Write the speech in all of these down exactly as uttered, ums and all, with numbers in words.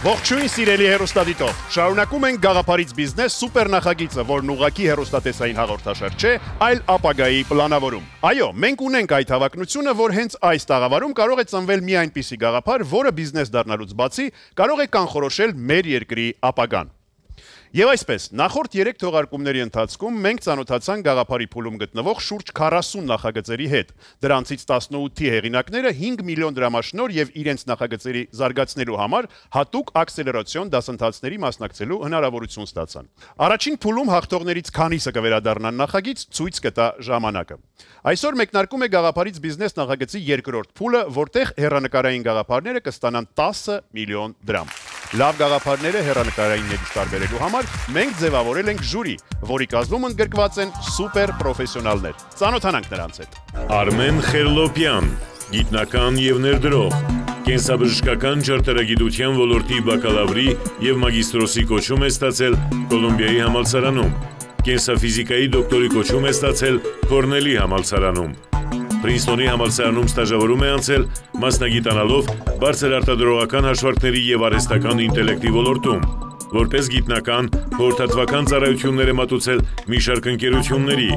Ողջույն սիրելի հեռուստադիտող, շարունակում ենք Գաղափարից բիզնես սուպեր նախագիծը, որն ուղղակի հեռուստատեսային հաղորդաշար չէ, այլ ապագայի պլանավորում։ Այո, մենք ունենք այդ հավակնությունը, որ հենց այս տաղավարում կարող է ծնվել մի այնպիսի գաղափար, որը բիզնես դառնալուց բացի կարող է կանխորոշել մեր երկրի ապագան։ Եվ այսպես, նախորդ երեք թողարկումների ընթացքում մենք ծանոթացանք գաղափարի փուլում գտնվող շուրջ քառասուն նախագծերի հետ։ Դրանցից տասնութի հեղինակները հինգ միլիոն դրամաշնոր եւ իրենց նախագծերի զարգացնելու համար հատուկ ակսելերացիոն դասընթացների մասնակցելու հնարավորություն ստացան։ Առաջին փուլում հաղթողներից քանիսը կվերադառնան նախագիծ, ցույց կտա ժամանակը։ Այսօր մեկնարկում է գաղափարից բիզնես նախագծի երկրորդ փուլը, որտեղ հեռանկարային գաղափարները կստանան տասը միլիոն դրամ։ Լավ գաղափարները հեռանկարայիններից տարբերելու համար մենք ձևավորել ենք ժյուրի, որի կազմում ընդգրկված են սուպեր պրոֆեսիոնալներ։ Ծանոթանանք նրանց հետ։ Արմեն Խելլոպյան, գիտնական եւ ներդրող, կենսաբժշկական ճարտարագիտության ոլորտի բակալավրի եւ մագիստրոսի կոչում է ստացել Կոլումբիայի համալսարանում, կենսաֆիզիկայի դոկտորի կոչում է ստացել Կորնելի համալսարանում, Պրինսթոնի համալսարանում ստաժավորում է անցել, մասնագիտանալով բարձր արտադրողական հաշվարկների եւ արհեստական ինտելեկտի ոլորտում, որպես գիտնական, խորհրդատվական ծառայություններ է մատուցել մի շարք ընկերությունների,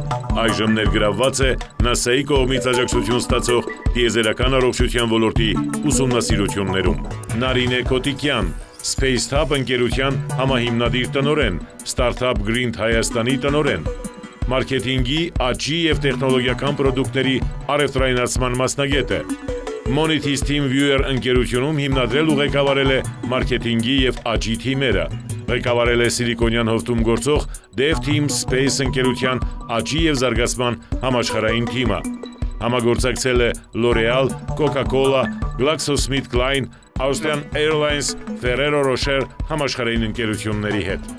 այժմ ներգրավված է նասայի կողմից աջակցություն ստացող տիեզերական առողջության ոլորտի ուսումնասիրություններում։ Նարինե Կոտիկյան, Space Hub ընկերության համահիմնադիր տնօրեն, Startup Green Հայաստանի տնօրեն, մարքեթինգի, աճի և տեխնոլոգիական պրոդուկտների առևտրայնացման մասնագետ է։ Monitys TeamViewer ընկերությունում հիմնադրել ու ղեկավարել է մարքեթինգի և աճի թիմերը։ Ղեկավարել է Սիլիկոնյան հովտում գործող DevTeam Space ընկերության աճի և զարգացման համաշխարհային թիմը։ Համագործակցել է L'Oreal, Coca-Cola, GlaxoSmithKline, Austrian Airlines, Ferrero Rocher համաշխարհային ընկերությունների հետ։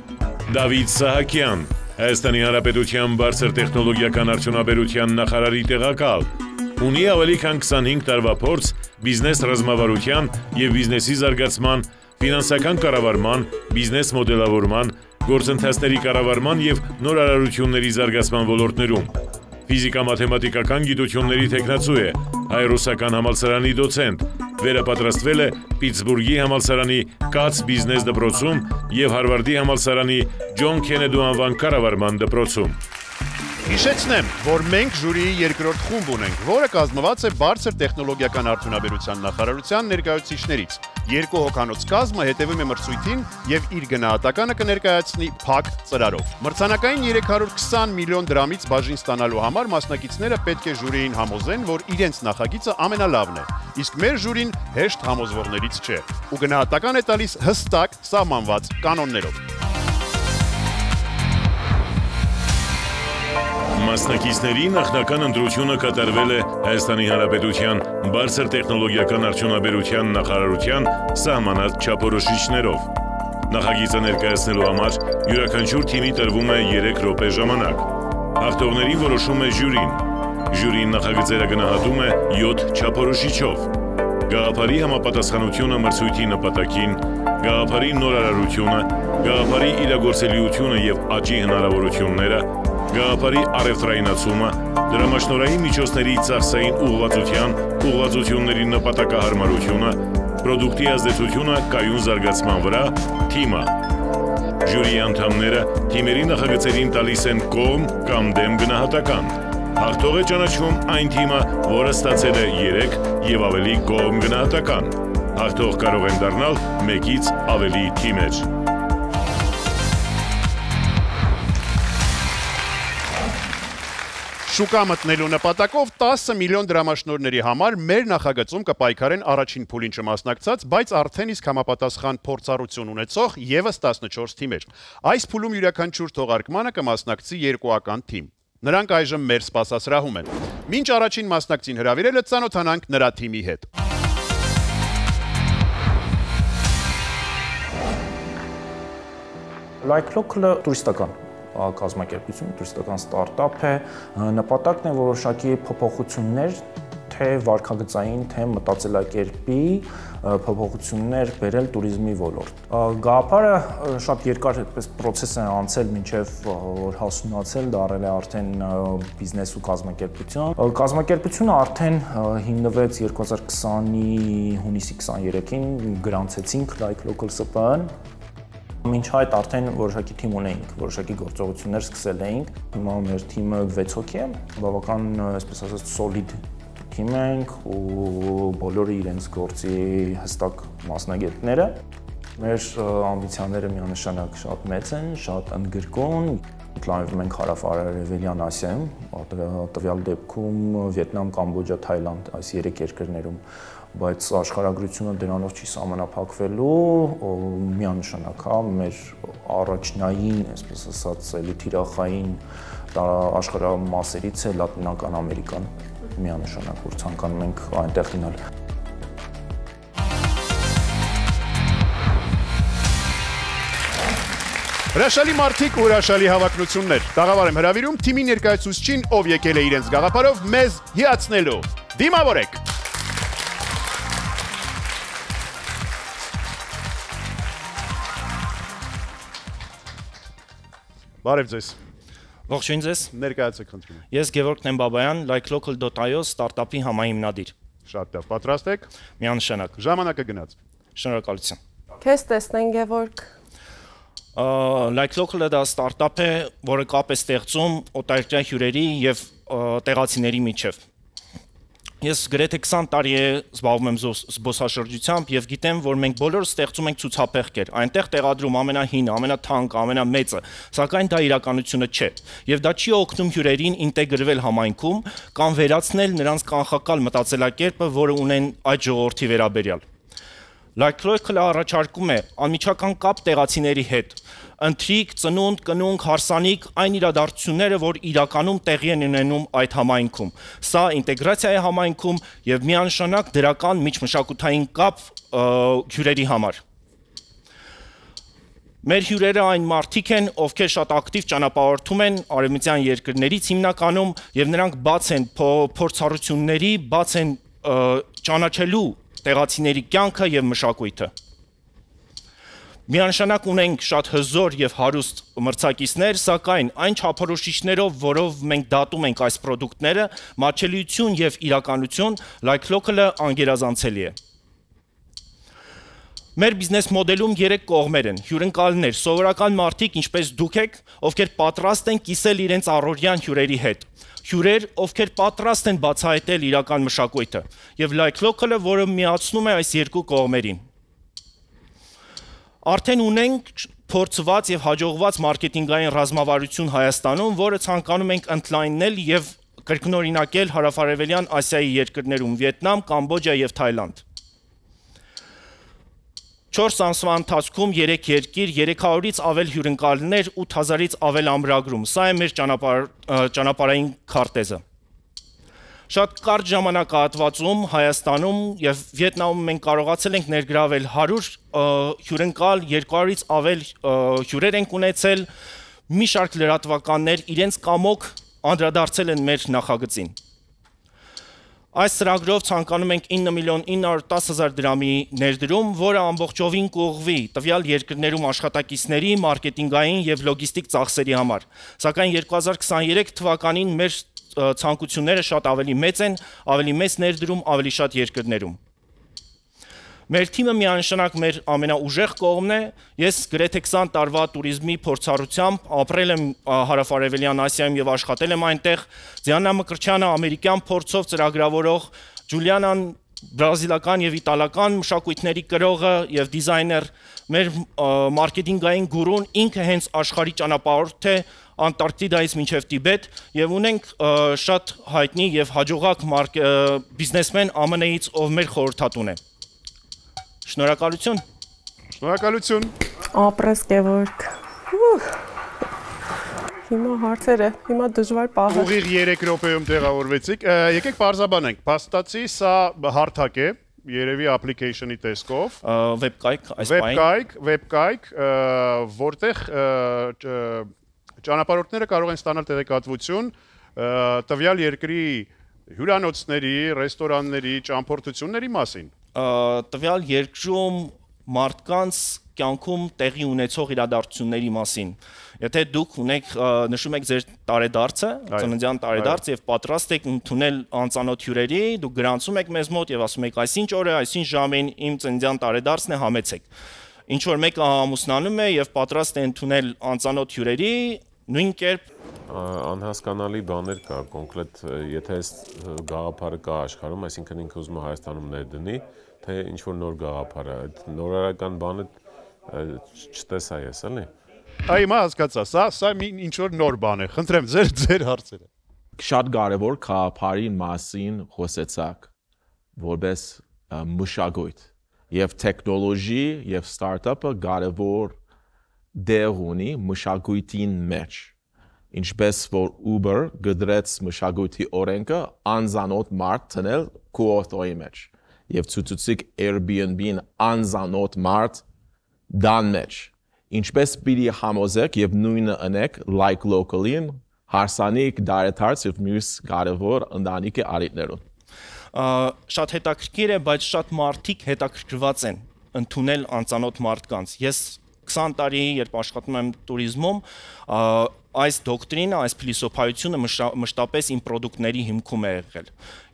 Դավիթ Սահակյան, Հայաստանի Հանրապետության բարձր տեխնոլոգիական արդյունաբերության նախարարի տեղակալ, ունի ավելի քան քսանհինգ տարվա փորձ բիզնես ռազմավարության և բիզնեսի զարգացման, ֆինանսական կառավարման, բիզնես մոդելավորման, գործընթացների կառավարման և նորարարությունների զարգացման ոլորտներում։ Ֆիզիկա-մաթեմատիկական գիտությունների թեկնածու է, Հայ-ռուսական համալսարանի դոցենտ, վերապատրաստվել է Պիտսբուրգի համալսարանի Կաց բիզնես դպրոցում և Հարվարդի համալսարանի Ջոն Քենեդու անվան կառավարման դպրոցում։ Հիշեցնեմ, որ մենք ժյուրիի երկրորդ խումբ ունենք, որը կազմված է բարձր տեխնոլոգիական արդյունաբերության նախարարության ներկայացուցիչներից։ Երկու հոգանոց կազմը հետևում է մրցույթին և իր գնահատականը կներկայացնի փակ ծրարով։ Մրցանակային երեք հարյուր քսան միլիոն դրամից բաժին ստանալու համար մասնակիցները պետք է ժյուրիին համոզեն, որ իրենց նախագիծը ամենալավն է, իսկ մեր ժյուրին հեշտ համոզվողներից չէ, ու գնահատական է տալիս հստակ սահմանված կանոններով։ Մասնակիցների նախնական ընտրությունը կատարվել է Հայաստանի Հանրապետության բարձր տեխնոլոգիական արդյունաբերության նախարարության սահմանած չափորոշիչներով։ Նախագիծը ներկայացնելու համար յուրաքանչյուր թիմի տրվում է երեք րոպե ժամանակ։ Հաղթողներին որոշում է ժյուրին։ Ժյուրին նախագծերը գնահատում է յոթ չափորոշիչով։ Գաղափարի համապատասխանությունը մրցույթի նպատակին, գաղափարի նորարարությունը, գաղափարի իրագործելիությունը և աճի հնարավորությունները, գաղափարի առևտրայնացումը, դրամաշնորհային միջոցների ծախսային ուղղվածության, ուղղվածությունների նպատակահարմարությունը, պրոդուկտի ազդեցությունը կայուն զարգացման վրա, թիմը։ Ժյուրիի անդամները թիմերի նախագծերին տալիս են կողմ կամ դեմ գնահատական։ Հաղթող է ճանաչվում այն թիմը, որը ստացել է երեք և ավելի կողմ գնահատական։ Հաղթող կարող են դառնալ մեկից ավելի թիմեր։ Շուկա մտնելու նպատակով տասը միլիոն դրամաշնորհների համար մեր նախագծում կպայքարեն առաջին փուլին չմասնակցած, բայց արդեն իսկ համապատասխան փորձառություն ունեցող ևս տասնչորս թիմեր։ Այս փուլում յուրաքանչյուր թողարկմանը կմասնակցի երկուական թիմ։ Նրանք այժմ մեր սպասասրահում են։ Մինչ առաջին մասնակցին հրավիրելը ծանոթանանք նրա թիմի հետ։ Like Local-ը տուրիստական կազմակերպություն, տուրիստական ստարտափ է, նպատակն է որոշակի փոփոխություններ թե վարքագծային, թե մտածելակերպի փոփոխություններ բերել туриզմի ոլորտ։ Գաղափարը շատ երկար այդպես process է անցել մինչև որ հասունացել, դարել է արդեն բիզնես ու կազմակերպություն։ Կազմակերպությունը արդեն հիմնվեց երկու հազար քսանի հունիսի քսաներեքին, գրանցեցինք Like Local S P N։ Մինչ այդ արդեն որոշակի թիմ ունեինք, որոշակի գործողություններ սկսել էինք։ Հիմա մեր թիմը վեց հոգի է, բավական, այսպես ասած, solid թիմ ենք ու բոլորը իրենց գործի հստակ մասնագետները։ Մեր ամբիցիաները միանշանակ շատ մեծ են, շատ ընդգրկուն։ Պլանավորում ենք հարավ-արևելյան Ասիայում, տվյալ դեպքում Վիետնամ, Կամբոջա, Թայլանդ, այս երեք երկրներում, բայց աշխարհագրությունը դրանով չի սահմանափակվելու, միանշանակ հա մեր առաջնային, այսպես ասած, էլի թիրախային աշխարհամասերից է Լատինական Ամերիկան, միանշանակ որ ցանկանում ենք այնտեղ գնալ։ Հրաշալի մարդիկ ու հրաշալի հավակնություններ։ Տաղավար եմ հրավիրում թիմի ներկայացուցչին, ով եկել է իրենց գաղափարով մեզ հիացնելու։ Դիմավորեք։ Բարև ձեզ։ Ողջույն ձեզ։ Ներկայացեք խնդրում եմ։ Ես Գևորգ Նեմբաբայան, like local dot i o ստարտափի համահիմնադիր։ Շատ լավ, պատրաստ եք։ Միանշանակ։ Ժամանակը գնաց։ Շնորհակալություն։ Քեզ տեսնեն Գևորգ։ Like local-ը դա ստարտափ է, որը կապ է ստեղծում օտարերկրյա հյուրերի եւ տեղացիների միջև։ Ես գրեթե քսան տարի է զբաղվում եմ զբոսաշրջությամբ եւ գիտեմ, որ մենք բոլորս ստեղծում ենք ցուցափեղկեր։ Այնտեղ տեղադրում ամենահինը, ամենաթանկը, ամենամեծը, սակայն դա իրականությունը չէ։ Եվ դա չի օգնում հյուրերին ինտեգրվել համայնքում կամ վերացնել նրանց կանխակալ մտածելակերպը, որը ունեն այդ ժողովրդի վերաբերյալ։ Like local-ը առաջարկում է անմիջական կապ տեղացիների հետ, ընթրիք, ծնունդ, կնունկ, հարսանիք, այն իրադարձությունները, որ իրականում տեղի են ունենում այդ համայնքում։ Սա ինտեգրացիա է համայնքում եւ միանշանակ դրական միջմշակութային կապ հյուրերի համար։ Մեր հյուրերը այն մարդիկ են, ովքեր շատ ակտիվ ճանապարհորդում են արևմտյան երկրներից հիմնականում եւ նրանք բաց են փորձառությունների, բաց են ճանաչելու տեղացիների կյանքը եւ մշակույթը։ Միանշանակ ունենք շատ հզոր եւ հարուստ մրցակիցներ, սակայն այն չափորոշիչներով, որով մենք դատում ենք այս ապրանքները, մատչելիություն եւ իրականություն, like local-ը անգերազանցելի է։ Մեր բիզնես մոդելում երեք կողմեր են՝ հյուրընկալներ, սովորական մարդիկ, ինչպես դուք եք, ովքեր պատրաստ են կիսել իրենց առօրյան հյուրերի հետ։ Հյուրեր, ովքեր պատրաստ են բացահայտել իրական մշակույթը, եւ like local-ը, որը միացնում է այս երկու կողմերին։ Արդեն ունենք փորձված եւ հաջողված մարքեթինգային ռազմավարություն Հայաստանում, որը ցանկանում ենք ընդլայնել եւ կրկնօրինակել հարավարևելյան Ասիայի երկրներում՝ Վիետնամ, Կամբոջա եւ Թայլանդ։ Չորս ամսվա ընթացքում երեք երկիր, երեք հարյուրից ավել հյուրընկալներ, ութ հազարից ավել ամրագրում։ Սա է մեր ճանապարհային քարտեզը։ Շատ կարճ ժամանակահատվածում Հայաստանում եւ Վիետնամում մենք կարողացել ենք ներգրավել հարյուր հյուրընկալ, երկու հարյուրից ավել հյուրեր ենք ունեցել, մի շարք լրատվականներ իրենց կամոք անդրադարձել են մեր նախագծին։ Այս ծրագրով ցանկանում ենք ինը միլիոն ինը հարյուր տասը հազար դրամի ներդրում, որը ամբողջովին կուղղվի տվյալ երկրներում աշխատակիցների, մարքեթինգային եւ լոգիստիկ ծախսերի համար։ Սակայն երկու հազար քսաներեք թվականին մեր ցանկությունները շատ ավելի մեծ են, ավելի մեծ ներդրում, ավելի շատ երկրներում։ Մեր թիմը միանշանակ մեր ամենաուժեղ կողմն է։ Ես գրեթե քսան տարվա туриզմի փորձառությամբ ապրել եմ հարավարևելյան Ասիայում եւ աշխատել եմ այնտեղ։ Ձիաննա Մկրտչյանը ամերիկյան փորձով ծրագրավորող, Ջուլիանան բրազիլական եւ իտալական մշակույթների կրողը եւ դիզայներ, մեր մարքեթինգային գուրուն ինքը հենց աշխարհի ճանապարհորդ է Անտարկտիդայից մինչև Տիբետ եւ ունենք շատ հայտնի եւ հաջողակ բիզնեսմեն Ա Մ Ն-ից, ով մեր խորհրդատուն է։ Շնորհակալություն։ Շնորհակալություն։ Ապրես Գևորգ։ Հիմա հարցերը, հիմա դժվար պահ է։ Ուղիղ երեք րոպեում տեղավորվեցիք։ Եկեք բարձաբանենք, փաստացի սա հարթակ է, երևի application-ի տեսքով։ Վեբկայք, այս բային։ Վեբկայք, վեբկայք, որտեղ ճանապարհորդները կարող են ստանալ տեղեկատվություն տվյալ երկրի Հյուրանոցների, ռեստորանների, ճամփորդությունների մասին։ Տվյալ երկրում մարդկանց կյանքում տեղի ունեցող իրադարձությունների մասին։ Եթե դուք ունեք նշում եք ձեր տարեդարձը, ծննդյան տարեդարձ եւ պատրաստ եք ընդունել անծանոթ հյուրերի, դուք գրանցում եք մեզ մոտ եւ ասում եք այսինչ օրը, այսինչ ժամին իմ ծննդյան տարեդարձն է, համեցեք։ Ինչ որ մեկը ամուսնանում է եւ պատրաստ է ընդունել անծանոթ հյուրերի, նույն կերպ անհասկանալի բաներ կա, կոնկրետ եթե այս գաղափարը կա աշխարհում, այսինքն ինքը ուզում է Հայաստանում ներդնի, թե ինչ որ նոր գաղափար է, այդ նորարարական բանը չտեսա ես, էլի։ Այ հիմա հասկացա, սա սա ինչ որ նոր բան է։ Խնդրեմ ձեր ձեր հարցերը։ Շատ կարևոր գաղափարի մասին խոսեցաք, որպես մշակույթ եւ տեխնոլոգի եւ ստարտափը կարևոր դեր ունի մշակույթին մեջ։ Ինչպես որ Uber գդրեց մշակույթի օրենքը անզանոթ մարդ տնել քո օտոյի մեջ եւ ցուցուցիկ Airbnb-ն անզանոթ մարդ դան մեջ ինչպես պիտի համոզեք եւ նույնը անեք like locally-ին հարսանիք դարեթարց եւ մյուս կարևոր ընտանիքի արիտներուն շատ հետաքրքիր է բայց շատ մարդիկ հետաքրքրված են ընդունել անծանոթ մարդկանց ես քսան տարի երբ աշխատում եմ туриզմում այս դոկտրինը, այս փիլիսոփայությունը մշտապես իմ պրոդուկտների հիմքում է եղել։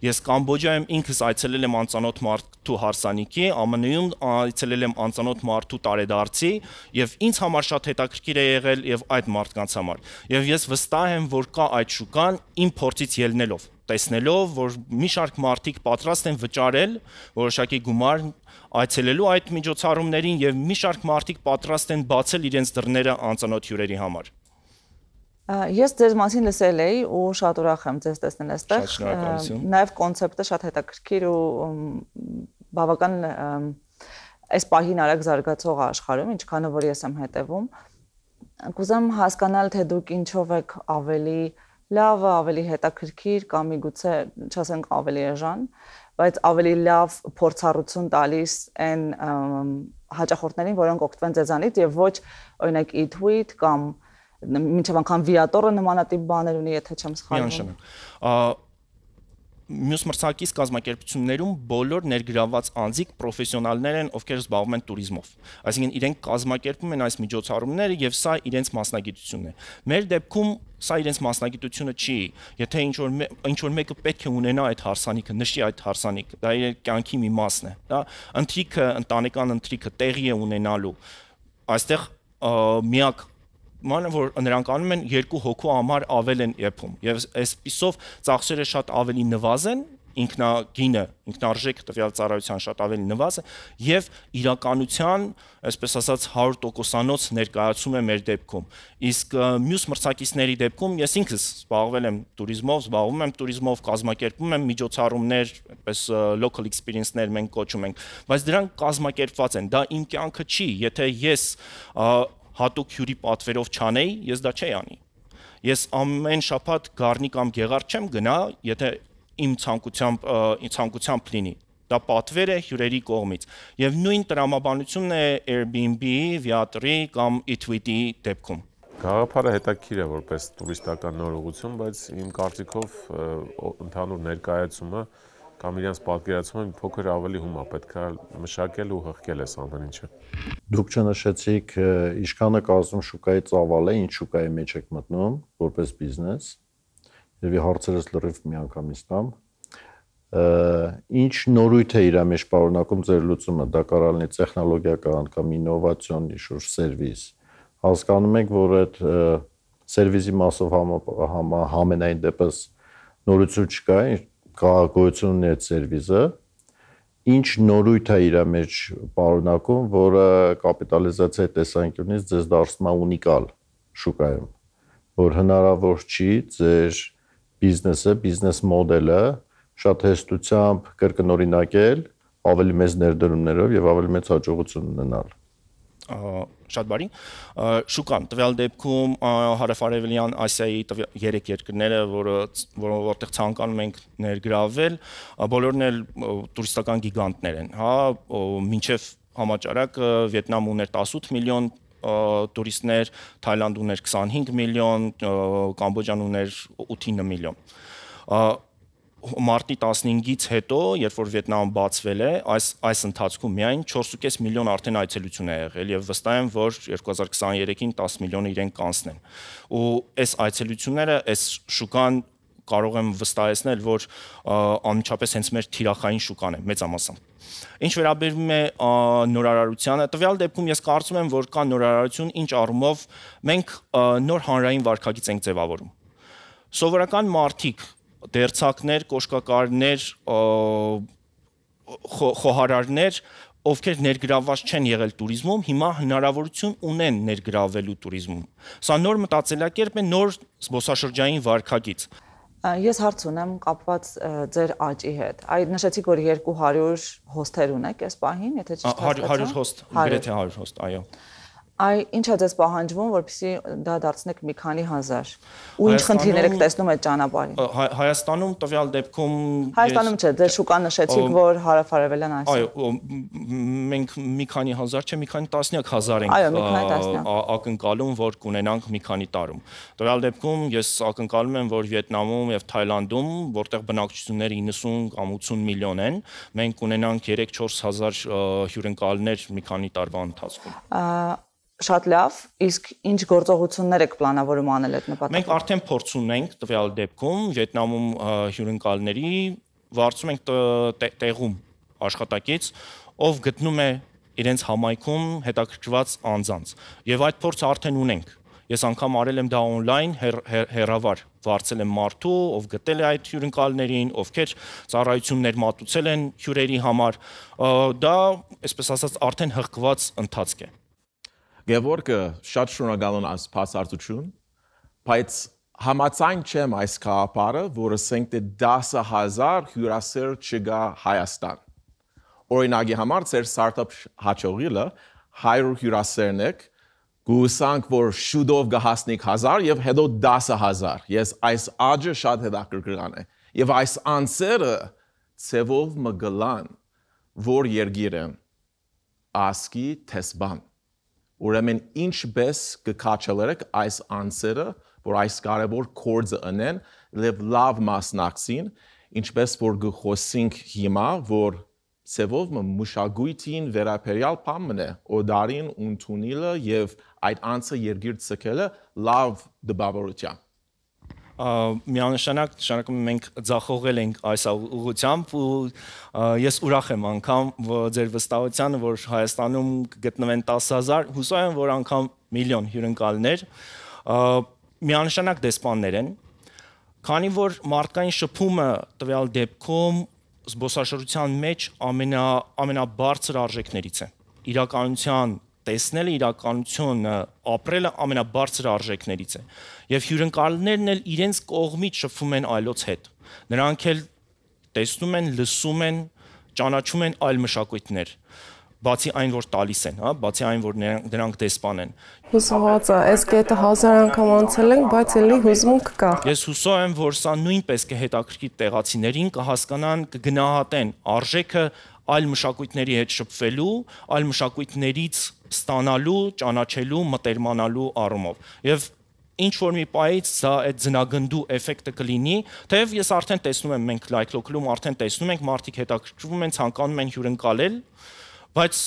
Ես Կամբոջայում ինքս այցելել եմ անծանոթ մարդու հարսանիքի, ԱՄՆ-ում այցելել եմ անծանոթ մարդու տարեդարձի եւ ինձ համար շատ հետաքրքիր է եղել եւ այդ մարդկանց համար։ Եվ ես վստահ եմ, որ կա այդ շուկան իմ փորձից ելնելով, տեսնելով, որ մի շարք մարդիկ պատրաստ են վճարել որոշակի գումար այցելելու այդ միջոցառումներին եւ մի շարք մարդիկ պատրաստ են բացել իրենց դռները անծանոթ հյուրերի համար։ Ես ձեզ մասին լսել էի ու շատ ուրախ եմ ձեզ տեսնել այստեղ։ Շատ շնորհակալություն։ Նաև կոնցեպտը շատ հետաքրքիր ու բավական այս պահին արագ զարգացող աշխարհում, ինչքան որ ես եմ հետևում։ Կուզեմ հասկանալ, թե դուք ինչով եք ավելի լավը, ավելի հետաքրքիր կամ միգուցե չասենք ավելի էժան, բայց ավելի լավ փորձառություն տալիս այն հաճախորդներին, որոնք օգտվեն ձեզանից եւ ոչ օրինակ e-tweet կամ մինչև անգամ Viator-ը նմանատիպ բաներ ունի, եթե չեմ սխալվում։ Մյուս մրցակից կազմակերպություններում բոլոր ներգրաված անձիկ պրոֆեսիոնալներ են, ովքեր զբաղվում են туриզմով։ Այսինքն իրենք կազմակերպում են այս միջոցառումները եւ սա իրենց մասնագիտությունն է։ Մեր դեպքում սա իրենց մասնագիտությունը չի։ Եթե ինչ որ ինչ որ մեկը պետք է ունենա այդ հարսանիքը, նշի այդ հարսանիքը, դա իր կյանքի մի մասն է։ Դա ընթրիքը, ընտանեկան ընթրիքը տեղի է ունենալու։ Այստեղ միակ մանր որ նրանք անում են երկու հոգու համար ավել են եփում եւ այսպիսով ծախսերը շատ ավելի նվազեն ինքնագինը ինքնարժեքը տվյալ ծառայության շատ ավելի նվազ է եւ իրականության այսպես ասած հարյուր տոկոսանոց ներկայացում է մեր դեպքում իսկ մյուս մրցակիցների դեպքում ես ինքս զբաղվել եմ туриզմով զբաղվում եմ туриզմով կազմակերպում եմ միջոցառումներ այդպես local experience-ներ մենք կոչում ենք բայց դրանք կազմակերպված են դա իմ կյանքը չի եթե ես հատուկ հյուրի պատվերով չանեի, ես դա չէի անի։ Ես ամեն շաբաթ Գառնի կամ Գեղարդ չեմ գնա, եթե իմ ցանկությամբ ցանկությամբ լինի։ Դա պատվեր է հյուրերի կողմից։ Եվ նույն տրամաբանությունն է Airbnb-ի, Viator-ի կամ e-tweet-ի դեպքում։ Գաղափարը հետաքրքիր է որպես տուրիստական նորոգություն, բայց իմ կարծիքով ընդհանուր ներկայացումը կամ իրենց պատկերացումը փոքր ավելի հումա պետք է մշակել ու հղկել այս ամեն ինչը։ Դուք չնշեցիք ինչքանը կազմում շուկայի ծավալ է, ինչ շուկայի մեջ եք մտնում որպես բիզնես։ Եվ հարցերս լրիվ միանգամից տամ։ Ինչ նորույթ է իր մեջ պարունակում ձեր լուծումը, դա կարող լինի տեխնոլոգիական կամ ինովացիոն ինչ-որ սերվիս։ Հասկանում եք, որ այդ սերվիսի մասով համենայն դեպս նորություն չկա, գոյություն ունի այդ սերվիսը, ինչ նորույթ է իր մեջ պարունակում, որը կապիտալիզացիայի տեսանկյունից ձեզ դարձնում է ունիկալ շուկայում, որ հնարավոր չի ձեր բիզնեսը, բիզնես մոդելը շատ հեշտությամբ կրկնօրինակել, ավելի մեծ ներդրումներով եւ ավելի մեծ հաջողություն ունենալ։ Շատ բարի շուկան տվյալ դեպքում հարավարևելյան Ասիայի երեք երկրները, որը որտեղ ցանկանում ենք ներգրավել, բոլորն էլ տուրիստական գիգանտներ են, հա, մինչև համաճարակը Վիետնամ ուներ տասութ միլիոն տուրիստներ, Թայլանդ ուներ քսանհինգ միլիոն, Կամբոջան ուներ ութ միլիոն։ մարտի տասնհինգից հետո, երբ որ Վիետնամը բացվել է, այս այս ընթացքում միայն չորս ու կես միլիոն արդեն այցելություն է եղել եւ վստահ եմ, որ երկու հազար քսաներեքին տասը միլիոնը իրեն կանցնեն։ Ու այս այցելությունները, այս շուկան կարող եմ վստահեցնել, որ անմիջապես հենց մեր թիրախային շուկան է, մեծամասամբ։ Ինչ վերաբերում է նորարարությանը, տվյալ դեպքում ես կարծում եմ, որ կա նորարարություն, ինչ առումով մենք նոր հանրային վարքագիծ ենք ձևավորում։ Սովորական մարդիկ, դերձակներ, կոշկակարներ, խոհարարներ, ովքեր ներգրավված չեն եղել туриզմում, հիմա հնարավորություն ունեն ներգրավելու туриզմում։ Սա նոր մտածելակերպ է, նոր զբոսաշրջային վարքագիծ։ Ես հարց ունեմ կապված ձեր աճի հետ։ Այդ նշեցիք, որ երկու հարյուր հոսթեր ունեք այս պահին, եթե ճիշտ հասկացա։ հարյուր հոստ, գրեթե հարյուր հոստ, այո։ Այ ինչ է ձեզ պահանջվում, որպեսզի դա դարձնեք մի քանի հազար։ Ու ինչ խնդիրներ եք տեսնում այդ ճանապարհին։ Հայաստանում տվյալ դեպքում Հայաստանում չէ, ձեր շուկան նշեցիք, որ հարավարևելյան Ասիա։ Այո, մենք մի քանի հազար չէ, մի քանի տասնյակ հազար ենք ակնկալում, որ կունենանք մի քանի տարում։ Տվյալ դեպքում ես ակնկալում եմ, որ Վիետնամում եւ Թայլանդում, որտեղ բնակչությունները իննսուն կամ ութսուն միլիոն են, մենք կունենանք երեք-չորս հազար հյուրընկալներ մի քանի տարվա ընթացքում։ Շատ լավ, իսկ ինչ գործողություններ եք պլանավորում անել այդ նպատակով։ Մենք արդեն փորձ ունենք տվյալ դեպքում Վիետնամում հյուրընկալների վարձում ենք տեղում աշխատակից, ով գտնում է իրենց համայնքում հետաքրքրված անձանց։ Եվ այդ փորձը արդեն ունենք։ Ես անգամ արել եմ դա on-line հեռավար, վարձել եմ մարդու, ով գտել է այդ հյուրընկալներին, ովքեր ծառայություններ մատուցել են հյուրերի համար։ Դա, այսպես ասած, արդեն հղկված ընթացք է։ Գևորգը շատ շնորհակալ եմ այս փաստարկություն, բայց համաձայն չեմ այս կապարը, որը ասենք թե դասը հազար հյուրասեր չգա Հայաստան։ Օրինակի համար ձեր ստարտափ հաճողիլը հարյուր հյուրասերն եք, գուսանք, որ շուտով կհասնեք հազար եւ հետո դասը հազար։ Ես այս աճը շատ հետաքրքրական է։ Եվ այս անձերը ցևով մգլան, որ երգիր են ասկի տեսբան։ Ուրեմն ինչպես կքաչելերեք այս անձերը, որ այս կարևոր կորձը ընեն, լավ լավ մասնակցին, ինչպես որ գխոսինք հիմա, որ սևով մշակույթին վերաբերյալ բանն է, օդարին ընդունելը եւ այդ անձը երգիր ցկելը լավ դպավորության։ Միանշանակ նշանակում մենք ձախողել ենք այս ուղղությամբ ու ես ուրախ եմ անգամ ձեր վստահությանը, որ Հայաստանում գտնվեն տասը հազար, հուսով եմ, որ անգամ միլիոն հյուրընկալներ, միանշանակ դեսպաններ են, քանի որ մարդկային շփումը տվյալ դեպքում զբոսաշրջության մեջ ամենաբարձր արժեքներից է։ Իրականության տեսնելը, իրականությունը ապրելը ամենաբարձր արժեքներից է։ Եվ հյուրընկալներն էլ իրենց կողմից շփվում են այլոց հետ։ Նրանք էլ տեսնում են, լսում են, ճանաչում են այլ մշակույթներ, բացի այն, որ տալիս են, հա, բացի այն, որ նրանք դեսպան են։ Հուսված եմ, այս կետը հազար անգամ անցել ենք, բայց էլի հուզմունք կա։ Ես հուսով եմ, որ սա նույնպես կհետաքրքրի տեղացիներին, կհասկանան, կգնահատեն արժեքը այլ մշակույթների հետ շփվելու, այլ մշակույթներից ստանալու, ճանաչելու, մտերմանալու առումով։ Եվ ինչ որ մի պահից սա այդ ձնագնդու էֆեկտը կլինի, թեև ես արդեն տեսնում եմ, մենք Like Local-ում արդեն տեսնում ենք, մարդիկ հետաքրքրվում են, ցանկանում են հյուրընկալել, բայց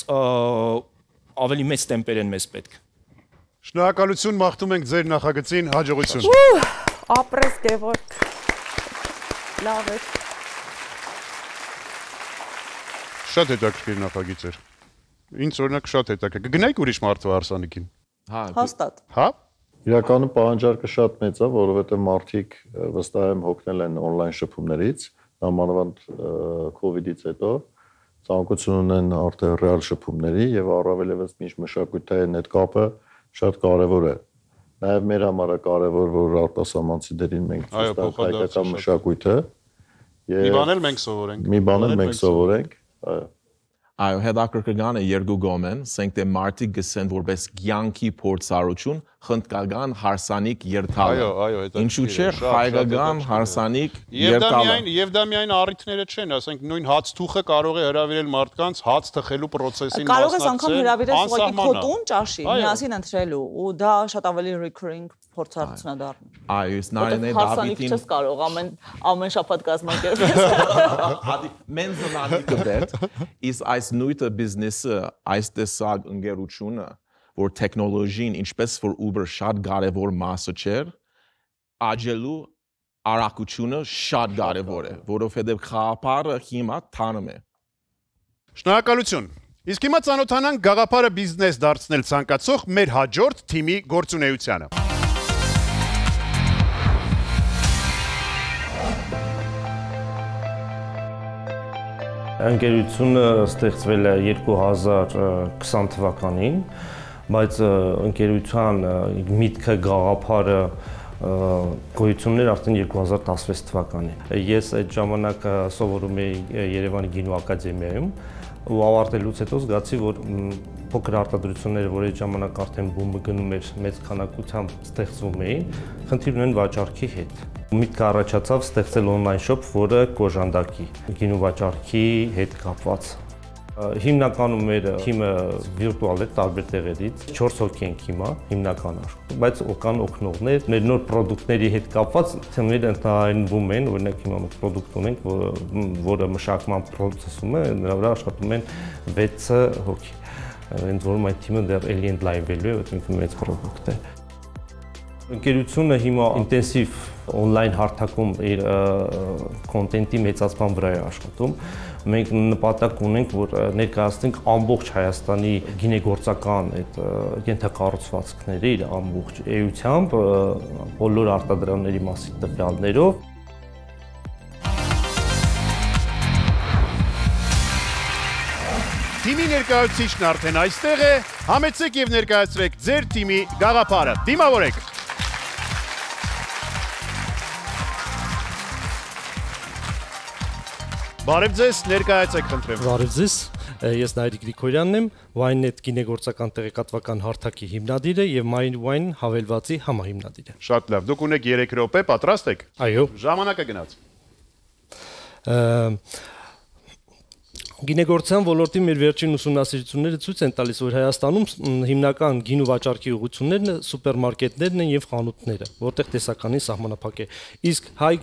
ավելի մեծ տեմպեր են մեզ պետք։ Շնորհակալություն, մաղթում ենք ձեր նախագծին հաջողություն։ Ապրես Գևորգ։ Լավ է։ Շատ հետաքրքիր նախագիծ էր։ Ինձ օրինակ շատ հետաքրքիր։ Կգնայիք ուրիշ մարդու հարսանիքին։ Հա, հաստատ։ Հա։ Իրականում պահանջարկը շատ մեծ է, որովհետև մարդիկ վստահ եմ հոգնել են on-line շփումներից, նամանավանդ COVID-ից հետո ցանկություն ունեն արդեն ռեալ շփումների եւ առավել եւս միշտ մշակութային այդ կապը շատ կարեւոր է։ Նաեւ մեր համար է կարեւոր, որ արտասահմանցիներին մենք ցույց տանք հայկական մշակույթը։ Մի բան էլ մենք սովորենք։ Մի բան էլ մենք սովորենք, այո։ Այո, հետաքրքրական է երկու գոմեն, ասենք թե մարդիկ գսեն որպես կյանքի փորձառություն խնդկական հարսանիք երթալը։ Այո, այո, հետաքրքիր է։ Ինչու՞ չէ հայկական հարսանիք երթալը։ Եվ դա միայն առիթները չեն, ասենք նույն հաց թուխը կարող է հրավիրել մարդկանց հաց թխելու process-ին մասնակցել։ Կարող ես անգամ հրավիրել ուղղակի քո տուն ճաշի, միասին ընտրելու, ու դա շատ ավելի recurring փորձառություն է դառնում։ Այո, իսկ Նարինե Դավիթին չես կարող ամեն ամեն շաբաթ կազմակերպել։ Ադի մենզոնալի դետ is այս նույնը բիզնեսը, այս տեսակ ընկերությունը, որ տեխնոլոգին ինչպես որ Uber շատ կարևոր մասը չէր, աջելու արագությունը շատ կարևոր է, որովհետև խաղապարը հիմա տանում է։ Շնորհակալություն։ Իսկ հիմա ծանոթանանք գաղափարը բիզնես դարձնել ցանկացող մեր հաջորդ թիմի գործունեությանը։ Ընկերությունը ստեղծվել է երկու հազար քսան թվականին, բայց ընկերության միտքը գաղափարը գոյություններ արդեն երկու հազար տասնվեց թվականին։ Ես այդ ժամանակ սովորում էի Երևանի գինու ակադեմիայում ու ավարտելուց հետո զգացի, որ փոքր արտադրությունները, որ այդ ժամանակ արդեն բումը գնում էր, մեծ քանակությամբ ստեղծվում էին, խնդիր ունեն վաճառքի հետ։ Միտքը առաջացավ ստեղծել on-line shop, որը կոժանդակի գինու վաճառքի հետ կապված։ Հիմնականում մեր թիմը վիրտուալ է տարբեր տեղերից, չորս հոգի ենք հիմա, հիմնական աշխարհում, բայց կան օգնողներ, մեր նոր պրոդուկտների հետ կապված թիմերը ընդհանրվում են, օրինակ հիմա մենք պրոդուկտ ունենք, որը մշակման process-ում է, նրա վրա աշխատում են վեց հոգի։ Հենց որում այդ թիմը դեռ էլի ընդլայնվելու է, որտեղ մեծ պրոդուկտ է։ Ընկերությունը հիմա ինտենսիվ on-line հարթակում իր կոնտենտի մեծացման վրա է աշխատում։ Մենք նպատակ ունենք, որ ներկայացնենք ամբողջ Հայաստանի գինեգործական այդ ենթակառուցվածքների իր ամբողջ էությամբ, բոլոր արտադրողների մասին տվյալներով։ Թիմի ներկայացուցիչն արդեն այստեղ է, համեցեք եւ ներկայացրեք ձեր թիմի գաղափարը։ Դիմավորեք։ Բարև ձեզ, ներկայացեք խնդրեմ։ Բարև ձեզ, ես Նայիրիկ Գրիգորյանն եմ, Wine.net գինեգործական տեղեկատվական հարթակի հիմնադիրը եւ MyWine հավելվածի համահիմնադիրը։ Շատ լավ, դուք ունեք երեք րոպե, պատրաստ եք։ Այո։ Ժամանակը գնաց։ Գինեգործության ոլորտի մեր վերջին ուսումնասիրությունները ցույց են տալիս, որ Հայաստանում հիմնական գինու վաճառքի ուղղություններն սուպերմարկետներն են եւ խանութները, որտեղ տեսականին սահմանափակ է։ Իսկ հայ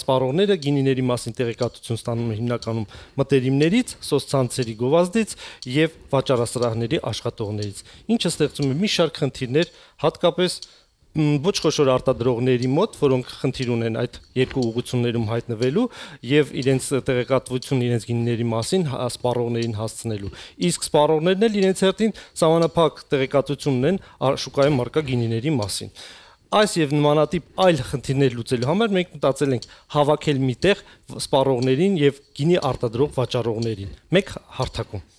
սպառողները գինիների մասին տեղեկատվություն ստանում են հիմնականում մտերիմներից, սոցցանցերի գովազդից եւ վաճառասրահների աշխատողներից, ինչը ստեղծում է մի շարք խնդիրներ, հատկապես ոչ խոշոր արտադրողների մոտ, որոնք խնդիր ունեն այդ երկու ուղղություններում հայտնվելու եւ իրենց տեղեկատվություն իրենց գինիների մասին սպառողներին հասցնելու։ Իսկ սպառողներն էլ իրենց հերթին սահմանափակ տեղեկատվություն ունեն շուկայում առկա գինիների մասին։ Այս եւ նմանատիպ այլ խնդիրներ լուծելու համար մենք մտածել ենք հավաքել միտեղ սպառողներին եւ գինի արտադրող վաճառողներին մեկ հարթակում։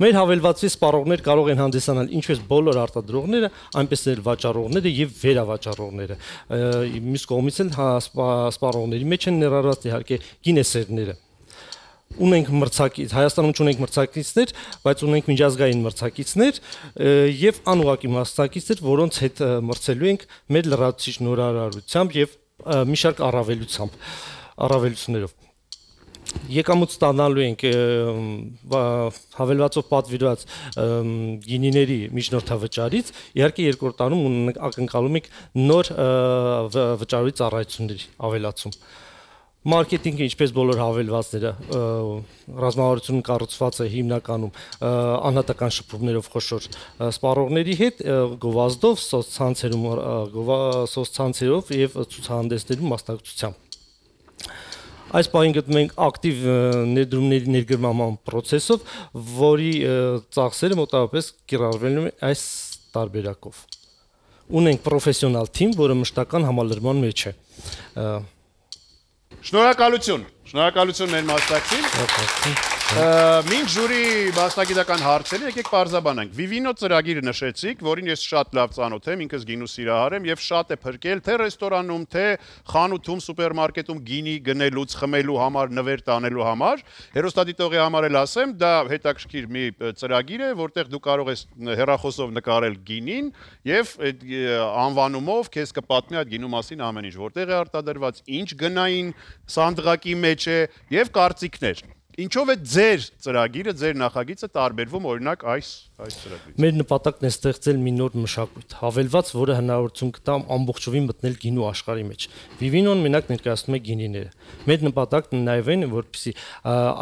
Մեր հավելվածի սպառողներ կարող են հանդիսանալ ինչպես բոլոր արտադրողները, այնպես էլ վաճառողները եւ վերավաճառողները։ Մյուս կողմից էլ սպառողների մեջ են ներառված իհարկե գինեսերները։ Ունենք մրցակից, Հայաստանում չունենք մրցակիցներ, բայց ունենք միջազգային մրցակիցներ եւ անուղակի մրցակիցներ, որոնց հետ մրցելու ենք մեր լրացուցիչ նորարարությամբ եւ մի շարք առավելությամբ, առավելություններով։ Եկամուտ ստանալու ենք հավելվածով պատվիրված գինիների միջնորդավճարից, իհարկե երկրորդ տարում ակնկալում ենք նոր վճարույթ ծառայությունների ավելացում։ Մարքեթինգը ինչպես բոլոր հավելվածները ռազմավարությունը կառուցված է հիմնականում անհատական շփումներով խոշոր սպառողների հետ, գովազդով, սոցցանցերում, սոցցանցերով եւ ցուցահանդեսներում մասնակցությամբ։ Այս պահին գտնում ենք ակտիվ ներդրումների ներգրավման process-ով, որի ծախսերը մոտավորապես կիրառվելու են այս տարբերակով։ Ունենք պրոֆեսիոնալ թիմ, որը մշտական համալրման մեջ է։ Շնորհակալություն, շնորհակալություն մեր մասնակցին։ Մինչ ժյուրի մասնագիտական հարցերին եկեք պարզաբանենք։ Vivino ծրագիրը նշեցիք, որին ես շատ լավ ծանոթ եմ, ինքս գինու սիրահար եմ եւ շատ է փրկել թե ռեստորանում, թե խանութում, սուպերմարկետում գինի գնելուց, խմելու համար, նվեր տանելու համար։ Հեռուստադիտողի համար էլ ասեմ, դա հետաքրքիր մի ծրագիր է, որտեղ դու կարող ես հեռախոսով նկարել գինին եւ այդ անվանումով քեզ կպատմի այդ գինու մասին ամեն ինչ, որտեղ է արտադրված, ինչ գնային սանդղակի մեջ է եւ կարծիքներ։ Ինչով է ձեր ծրագիրը, ձեր նախագիծը տարբերվում օրինակ այս այս ծրագրից։ Մեր նպատակն է ստեղծել մի նոր մշակույթ, հավելված, որը հնարավորություն կտա ամբողջովին մտնել գինու աշխարհի մեջ։ Vivino-ն մենակ ներկայացնում է գինիները։ Մեր նպատակն նաև այն է, որպեսզի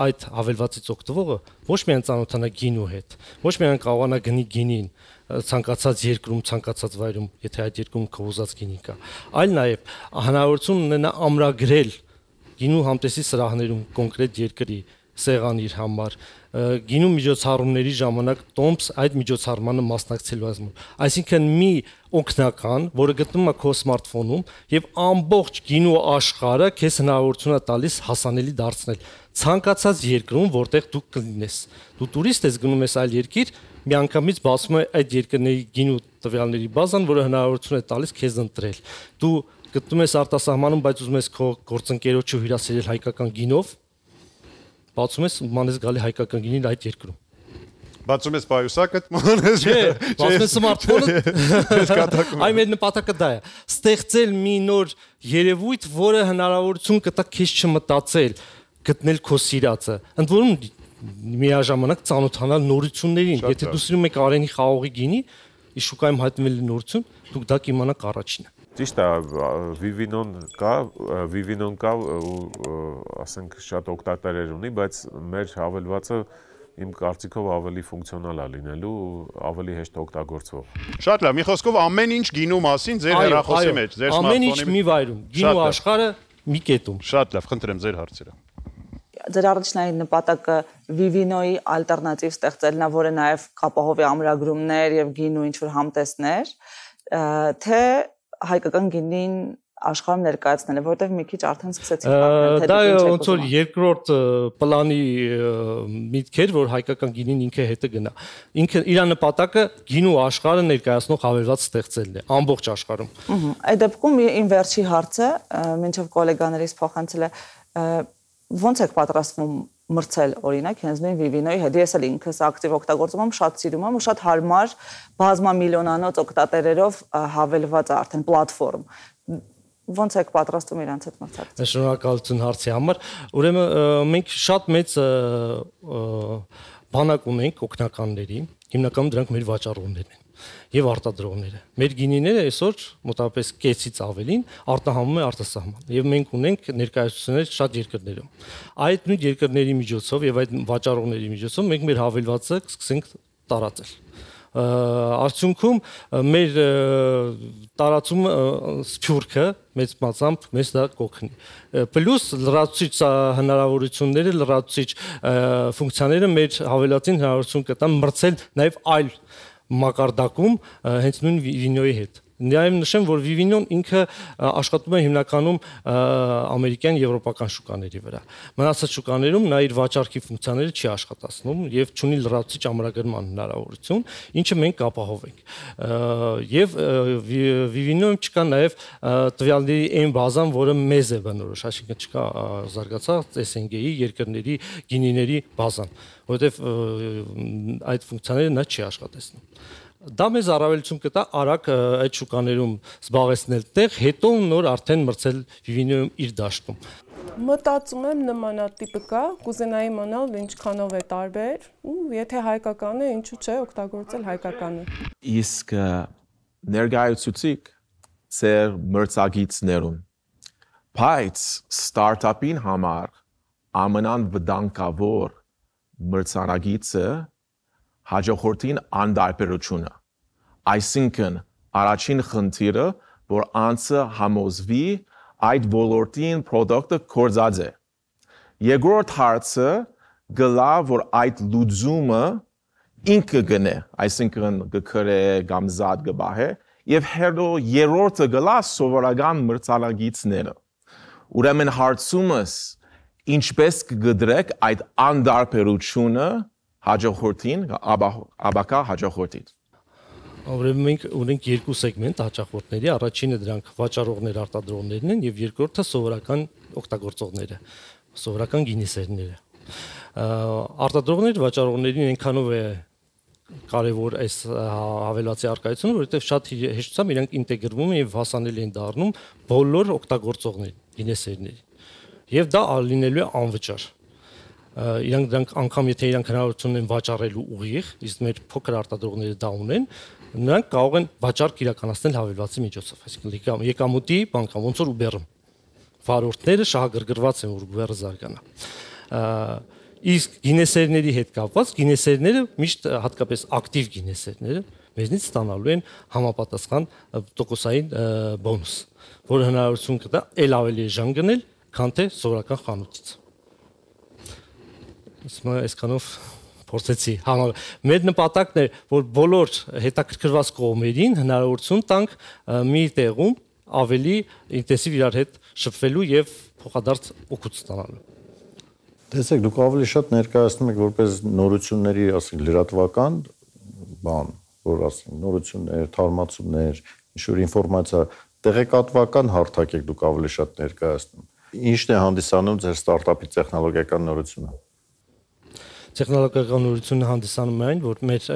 այդ հավելվածից օգտվողը ոչ միայն ծանոթանա գինու հետ, ոչ միայն կարողանա գնի գինին ցանկացած երկրում, ցանկացած վայրում, եթե այդ երկրում կոզած գինի կա, այլ նաև հնարավորություն ունենա ամրագրել գինու համտեսի սրահներում կոնկրետ երկրի սեղան իր համար, գինու միջոցառումների ժամանակ տոմս այդ միջոցառմանը մասնակցելու ազգում։ Այսինքն մի օգնական, որը գտնվում է քո սմարթֆոնում եւ ամբողջ գինու աշխարհը քեզ հնարավորություն է տալիս հասանելի դարձնել ցանկացած երկրում, որտեղ դու կլինես։ Դու տուրիստ ես, գնում ես այլ երկիր, միանգամից բացում է այդ երկրների գինու տվյալների բազան, որը հնարավորություն է տալիս քեզ ընտրել։ Դու գտնում ես արտասահմանում, բայց ուզում ես քո գործընկերոջը հյուրասիրել հայկական գինով, բացում ես ման ես գալի հայկական գինին այդ երկրում։ Բացում ես պայուսակը, ման ես։ Չէ, բացում ես սմարթֆոնը։ Այ մեր նպատակը դա է։ Ստեղծել մի նոր երևույթ, որը հնարավորություն կտա քեզ չմտածել, գտնել քո սիրածը։ Ընդ որում միաժամանակ ծանոթանալ նորություններին։ Եթե դու սիրում ես Արենի խաղողի գինի, ի շուկայում հայտնվել նորություն, դուք դա կիմանաք առաջինը։ Ճիշտ է, Vivino-ն կա, Vivino-ն կա ու ասենք շատ օգտատերեր ունի, բայց մեր հավելվածը իմ կարծիքով ավելի ֆունկցիոնալ է լինելու, ավելի հեշտ օգտագործվող։ Շատ լավ, մի խոսքով ամեն ինչ գինու մասին ձեր հեռախոսի մեջ, ձեր սմարթֆոնի մեջ։ Ամեն ինչ մի վայրում, գինու աշխարհը մի կետում։ Շատ լավ, խնդրեմ ձեր հարցերը։ Ձեր առաջնային նպատակը Vivino-ի ալտերնատիվ ստեղծելն է, որը նաև կապահովի ամրագրումներ եւ գինու ինչ-որ համտեսներ, թե հայկական գինին աշխարհում ներկայացնելը, որտեղ մի քիչ արդեն սկսեցիք պատմել, թե դա ոնց որ երկրորդ պլանի միտք էր, որ հայկական գինին ինքը հետը գնա։ Ինքը իր նպատակը գինու աշխարհը ներկայացնող հավելված ստեղծելն է ամբողջ աշխարհում։ Այդ դեպքում իմ վերջի հարցը, մինչև գոլեգաներից փոխանցել է, ո՞նց եք պատրաստվում մրցել օրինակ հենց նույն Vivino-ի հետ։ Ես էլ ինքս ակտիվ օգտագործում եմ, շատ սիրում եմ ու շատ հարմար բազմամիլիոնանոց օգտատերերով հավելված արդեն պլատֆորմ։ Ոնց եք պատրաստվում իրանց հետ մրցակցել։ Շնորհակալություն հարցի համար։ Ուրեմն մենք շատ մեծ բանակ ունենք օգնականների, հիմնականում դրանք մեր վաճառողներն են եւ արտադրողները։ Մեր գինիները այսօր մոտավորապես կեսից ավելին արտահանում է արտասահման եւ մենք ունենք ներկայացություններ շատ երկրներում։ Այդ նույն երկրների միջոցով եւ այդ վաճառողների միջոցով մենք մեր հավելվածը սկսենք տարածել։ Արդյունքում մեր տարածումը սփյուռքը մեծ մասամբ մեզ դա կօգնի։ Պլյուս լրացուցիչ հնարավորությունները, լրացուցիչ ֆունկցիաները մեր հավելվածին հնարավորություն կտան մրցել նաեւ այլ մակարդակում հենց նույն Vivino-ի հետ։ Նաև նշեմ, որ Vivino-ն ինքը աշխատում է հիմնականում ամերիկյան, եվրոպական շուկաների վրա։ Մնացած շուկաներում նա իր վաճառքի ֆունկցիաները չի աշխատացնում եւ չունի լրացուցիչ ամրագրման հնարավորություն, ինչը մենք ապահովենք։ Եվ Vivino-ում չկա նաև տվյալների այն բազան, որը մեզ է բնորոշ, այսինքն չկա զարգացած S N G-ի երկրների գինիների բազան, որովհետեւ այդ ֆունկցիաները նա չի աշխատեցնում։ Դա մեզ առավելություն կտա արագ այդ շուկաներում զբաղեցնել տեղ, հետո նոր արդեն մրցել Vivino-ում իր դաշտում։ Մտածում եմ նմանատիպը կա, կուզենայի իմանալ ինչքանով է տարբեր, ու եթե հայկական է, ինչու՞ չէ օգտագործել հայկականը։ Իսկ ներկայացուցիք ծեր մրցակիցներուն։ Բայց ստարտափին համար ամենավտանգավոր մրցանակիցը հաջողորդին անդարբերությունը։ Այսինքն առաջին խնդիրը, որ անձը համոզվի այդ ոլորտին պրոդուկտը կործած է։ Երկրորդ հարցը գլա, որ այդ լուծումը ինքը գնե, այսինքն գքրե կամ զատ գբահե, եւ հետո երրորդը գլա սովորական մրցանակիցները։ Ուրեմն հարցումս ինչպես կգդրեք այդ անդարբերությունը հաջողորդին, աբակա հաջողորդին։ Ուրեմն մենք ունենք երկու սեգմենտ հաճախորդների, առաջինը դրանք վաճառողներ, արտադրողներն են եւ երկրորդը սովորական օգտագործողները, սովորական գինիսերները։ Արտադրողներ, վաճառողներին այնքանով է կարևոր այս հավելվածի արկայությունը, որովհետեւ շատ հեշտությամբ իրանք ինտեգրվում են եւ հասանելի են դառնում բոլոր օգտագործողներին, գինեսերներին։ Եվ դա լինելու է անվճար։ իրանք դրանք անգամ եթե իրանք հնարավորություն ունեն վաճառելու ուղիղ, իսկ մեր փոքր արտադրողները դա ունեն, նրանք կարող են վաճառք իրականացնել հավելվածի միջոցով, այսինքն եկամուտի բանկա, ոնց որ Uber-ը վարորդները շահագրգռված են, որ Uber-ը զարգանա։ Իսկ գինեսերների հետ կապված գինեսերները միշտ հատկապես ակտիվ գինեսերները մեզնից ստանալու են համապատասխան տոկոսային բոնուս, որը հնարավորություն կտա ել ավելի էժան գնել, քան թե սովորական խանութից։ Իսկ այսքանով փորձեցի համա մեր նպատակն էր, որ բոլոր հետաքրքրված կողմերին հնարավորություն տանք մի տեղում ավելի ինտենսիվ իրար հետ շփվելու եւ փոխադարձ օգուտ ստանալու։ Տեսեք, դուք ավելի շատ ներկայացնում եք որպես նորությունների, ասենք, լրատվական բան, որ ասենք, նորություններ, թարմացումներ, ինչ-որ ինֆորմացիա, տեղեկատվական հարթակ եք դուք ավելի շատ ներկայացնում։ Ինչն է հանդիսանում ձեր ստարտափի տեխնոլոգիական նորությունը։ Տեխնոլոգիական նորությունը հանդիսանում է այն, որ մեր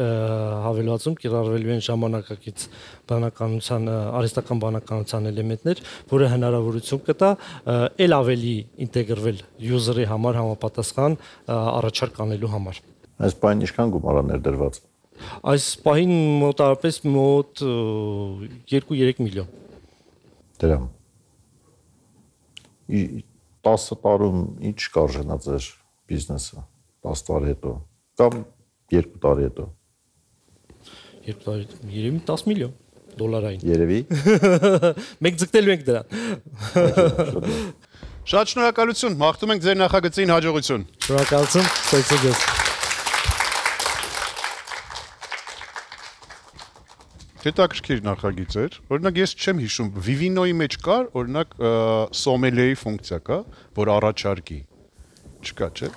հավելվածում կիրառվելու են ժամանակակից բանականության, արհեստական բանականության էլեմենտներ, որը հնարավորություն կտա ել ավելի ինտեգրվել user-ի համար համապատասխան առաջարկ անելու համար։ Այս բանը ինչքան գումար է ներդրված։ Այս պահին մոտավորապես մոտ երկու-երեք միլիոն դրամ։ տասը տարում ինչ կարժենա ձեր բիզնեսը։ տասը տարի հետո կամ երկու տարի հետո։ Երկու տարի հետո երևի տասը միլիոն դոլարային։ Երևի։ Մենք ձգտելու ենք դրան։ Շատ շնորհակալություն, մաղթում ենք ձեր նախագծին հաջողություն։ Շնորհակալություն, ստացի ձեզ։ Հետաքրքիր նախագիծ էր։ Օրինակ ես չեմ հիշում, Vivino-ի մեջ կար, օրինակ սոմելիեի ֆունկցիա կա, որ առաջարկի։ Չկա, չէ՞։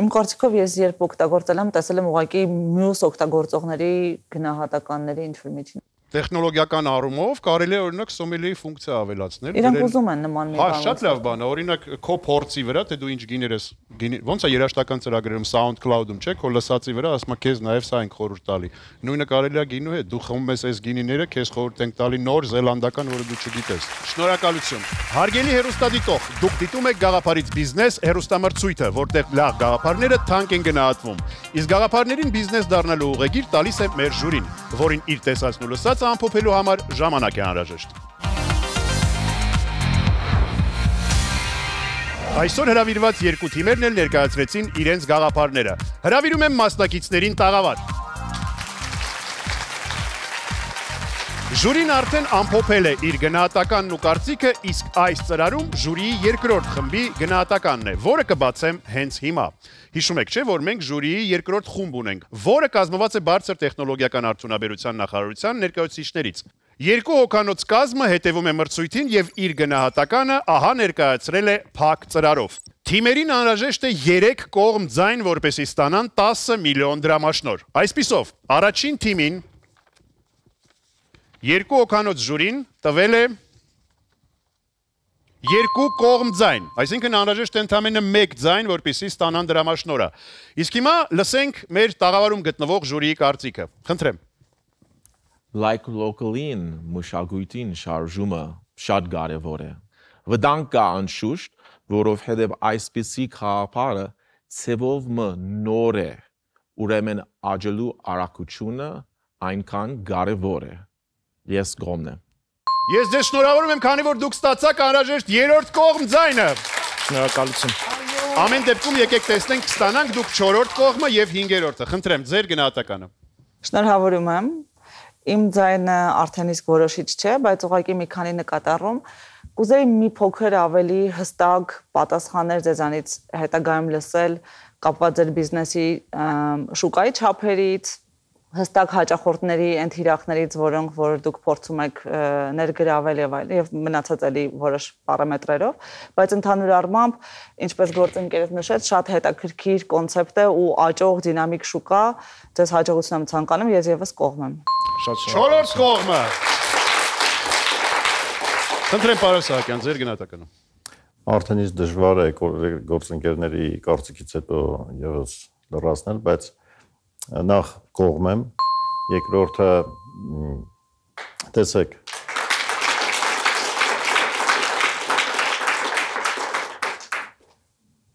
Իմ կարծիքով ես երբ օգտագործել եմ, տեսել եմ ուղղակի մյուս օգտագործողների գնահատականների ինչ-որ միջին։ Տեխնոլոգիական առումով կարելի է օրինակ սոմելիեի ֆունկցիա ավելացնել։ Իրանք ուզում են նման մի բան։ Հա, շատ լավ բան է, օրինակ քո փորձի վրա, թե դու ինչ գիներ ես, ոնց է երաժշտական ծրագրերում SoundCloud-ում, չէ՞, քո լսածի վրա ասում է քեզ նաև սա ենք խորհուրդ տալի։ Նույնը կարելի է գինու հետ, դու խմում ես այս գինիները, քեզ խորհուրդ ենք տալի նոր զելանդական, որը դու չգիտես։ Շնորհակալություն։ Հարգելի հեռուստադիտող, դուք դիտում եք Գաղափարից բիզնես հեռուստամրցույթը, որտեղ լավ գաղափարները թանկ են գնահատվում։ Իսկ գաղափարներին բիզնես դառնալու ուղեգիր տալիս է մեր ժյուրին, որին իր տեսածն ու լսածը ամփոփելու համար ժամանակ է անհրաժեշտ։ Այսօր հրավիրված երկու թիմերն էլ ներկայացրեցին իրենց գաղափարները։ Հրավիրում եմ մասնակիցներին տաղավար։ Ժյուրին արդեն ամփոփել է իր գնահատականն ու կարծիքը, իսկ այս ծրարում ժյուրիի երկրորդ խմբի գնահատականն է, որը կբացեմ հենց հիմա։ Հիշում եք, չէ՞, որ մենք ժյուրիի երկրորդ խումբ ունենք, որը կազմված է բարձր տեխնոլոգիական արդյունաբերության նախարարության ներկայացուցիչներից։ Երկու հոգանոց կազմը հետևում է մրցույթին եւ իր գնահատականը ահա ներկայացրել է փակ ծրարով։ Թիմերին անհրաժեշտ է երեք կողմ ձայն, որպեսզի ստանան տասը միլիոն դրամաշնոր։ Այսպիսով, առաջին թիմին երկու հոգանոց ժյուրին տվել է երկու կողմ ձայն, այսինքն անհրաժեշտ է ընդամենը մեկ ձայն, որպեսզի ստանան դրամաշնորը։ Իսկ հիմա լսենք մեր տաղավարում գտնվող ժյուրիի կարծիքը։ Խնդրեմ։ Like locally-ին մշակույթին շարժումը շատ կարևոր է։ Վտանգ կա անշուշտ, որովհետև այսպիսի խաղապարը ցևով մը նոր է, ուրեմն աճելու արագությունը այնքան կարևոր է։ Ես գոմն եմ։ Ես ձեզ շնորհավորում եմ, քանի որ դուք ստացաք անհրաժեշտ երրորդ կողմ ձայնը։ Շնորհակալություն։ Ամեն դեպքում եկեք տեսնենք, կստանանք դուք չորրորդ կողմը եւ հինգերորդը։ Խնդրեմ, ձեր գնահատականը։ Շնորհավորում եմ։ Իմ ձայնը արդեն իսկ որոշիչ չէ, բայց ուղղակի մի քանի նկատառում կուզեի մի փոքր ավելի հստակ պատասխաններ ձեզանից հետագայում լսել կապված ձեր բիզնեսի շուկայի չափերից, հստակ հաճախորդների այն թիրախներից, որոնք որ դուք փորձում եք ներգրավել եւ այլ եւ մնացած էլի որոշ պարամետրերով, բայց ընդհանուր առմամբ, ինչպես գործընկերս նշեց, շատ հետաքրքիր կոնցեպտ է ու աճող դինամիկ շուկա, ձեզ հաջողություն եմ ցանկանում, ես եւս կողմ եմ։ Շատ չորրորդ կողմը։ Խնդրեմ պարոն Սահակյան, ձեր գնահատականը։ Արդեն իսկ դժվար է գործընկերների կարծիքից հետո եւս լրացնել, բայց նախ կողմ եմ, երկրորդը տեսեք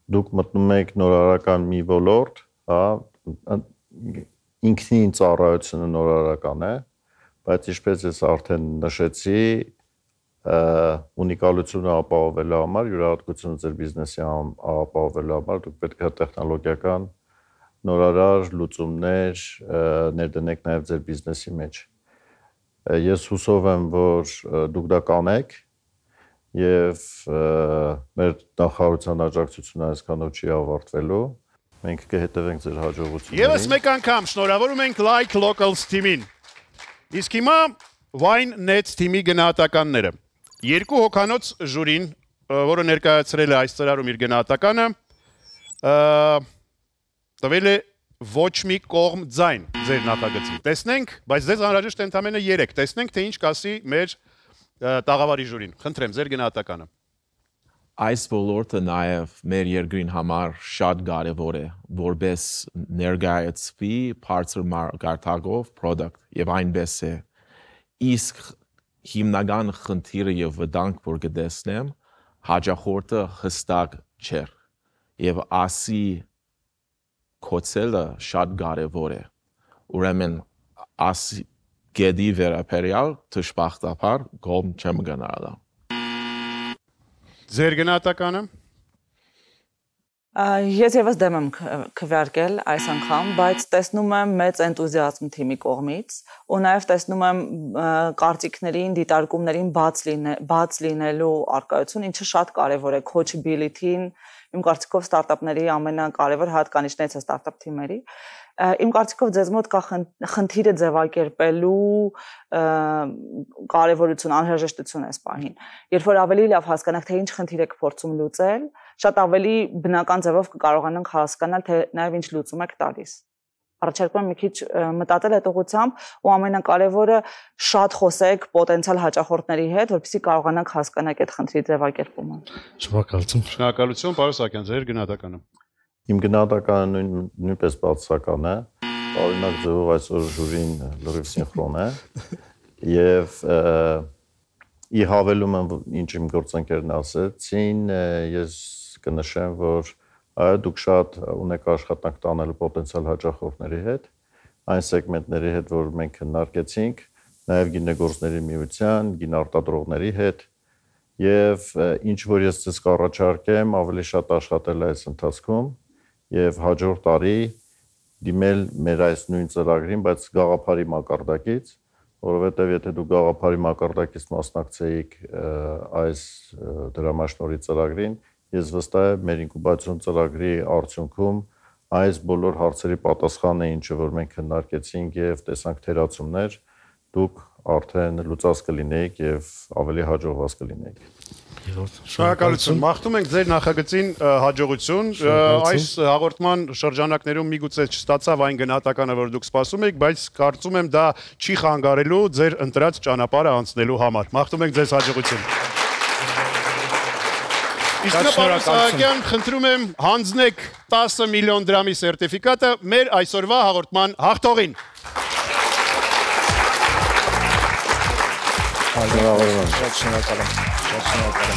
դուք մտնում եք նորարարական մի ոլորտ, հա, ինքնին ծառայությունը նորարարական է, բայց ինչպես ես արդեն նշեցի, ունիկալությունը ապահովելու համար, յուրահատկությունը ձեր բիզնեսի ապահովելու համար դուք պետք է տեխնոլոգիական նորարար լուծումներ ներդնեք նաև ձեր բիզնեսի մեջ։ Ես հուսով եմ, որ դուք դա կանեք եւ մեր նախարարության աջակցությունը այսքանով չի ավարտվելու։ Մենք կհետևենք ձեր հաջողություններին։ Եվս մեկ անգամ շնորհավորում ենք Like Locals թիմին։ Իսկ հիմա Wine Net թիմի գնահատականները։ Երկու հոգանոց ժյուրին, որը ներկայացրել է այս ծրարում իր գնահատականը, տվել է ոչ մի կողմ ձայն ձեր նախագծին։ Տեսնենք, բայց ձեզ անհրաժեշտ է ընդամենը երեք։ Տեսնենք, թե ինչ կասի մեր տաղավարի ժյուրին։ Խնդրեմ, ձեր գնահատականը։ Այս ոլորտը նաև մեր երկրին համար շատ կարևոր է, որպես ներկայացվի բարձր մարգարտակով product եւ այնպես է։ Իսկ հիմնական խնդիրը եւ վտանգ, որ կտեսնեմ, հաջախորդը հստակ չէր եւ ասի կոչելը շատ կարևոր է։ Ուրեմն ասի գեդի վերաբերյալ դժբախտաբար կողմ չեմ գնալու։ Ձեր գնահատականը։ Ես եւս դեմ եմ քվեարկել այս անգամ, բայց տեսնում եմ մեծ էնտուզիազմ թիմի կողմից ու նաեւ տեսնում եմ կարծիքներին, դիտարկումներին բաց լինելու արկայություն, ինչը շատ կարեւոր է coachability-ին, իմ կարծիքով ստարտափների ամենակարևոր հատկանիշներից է ստարտափ թիմերի։ Իմ կարծիքով ձեզ մոտ կա խնդիրը ձևակերպելու կարևորություն, անհրաժեշտություն այս պահին։ Երբ որ ավելի լավ հասկանանք, թե ինչ խնդիր եք փորձում լուծել, շատ ավելի բնական ձևով կկարողանանք հասկանալ, թե նաև ինչ լուծում եք տալիս։ Առաջարկում եմ մի քիչ մտածել այդ ուղղությամբ ու ամենակարևորը շատ խոսեք պոտենցիալ հաճախորդների հետ, որպեսզի կարողանանք հասկանալ այդ խնդրի ձևակերպումը։ Շնորհակալություն։ Շնորհակալություն, պարոն Սահակյան, ձեր գնահատականը։ Իմ գնահատականը նույնպես բացասական է, օրինակ ձևով այսօր ժյուրին լրիվ սինխրոն է եւ ի հավելում եմ ինչ իմ գործընկերն ասեցին, ես կնշեմ, որ այո դուք շատ ունեք աշխատանք տանելու պոտենցիալ հաճախորդների հետ, այն սեգմենտների հետ, որ մենք քննարկեցինք, նաեւ գինեգործների միության, գինարտադրողների հետ եւ ինչ որ ես ցես կառաջարկեմ, ավելի շատ աշխատել այս ընթացքում եւ հաջորդ տարի դիմել մեր այս նույն ծրագրին, բայց գաղափարի մակարդակից, որովհետեւ եթե դու գաղափարի մակարդակից մասնակցեիք այս դրամաշնորհի ծրագրին, ես վստահ եմ մեր ինկուբացիոն ծրագրի արդյունքում այս բոլոր հարցերի պատասխանը ինչը որ մենք քննարկեցինք եւ տեսանք թերացումներ, դուք արդեն լուծած կլինեիք եւ ավելի հաջողված կլինեիք։ Շնորհակալություն։ Մաղթում ենք ձեր նախագծին հաջողություն։ Այս հաղորդման շրջանակներում միգուցե չստացավ այն գնահատականը, որ դուք սպասում եք, բայց կարծում եմ դա չի խանգարելու ձեր ընտրած ճանապարհը անցնելու համար։ Մաղթում ենք ձեզ հաջողություն։ Իսկ պարոն Սահակյան, խնդրում եմ հանձնեք տասը միլիոն դրամի սերտիֆիկատը մեր այսօրվա հաղորդման հաղթողին։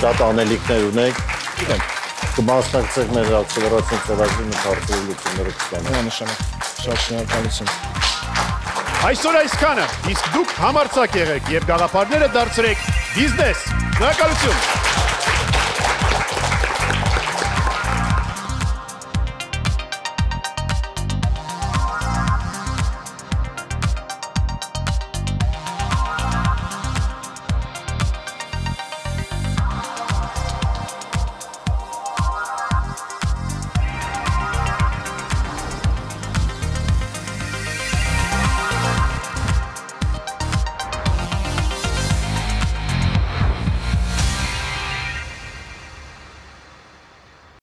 Շատ անելիքներ ունեք, կմասնակցեք մեր ակսելերացիոն ծրագրի մտարծելու լուծումները կստանաք։ Նշանակ, շատ շնորհակալություն։ Այսօր այսքանը, իսկ դուք համարձակ եղեք եւ գաղափարները դարձրեք բիզնես։ Շնորհակալություն։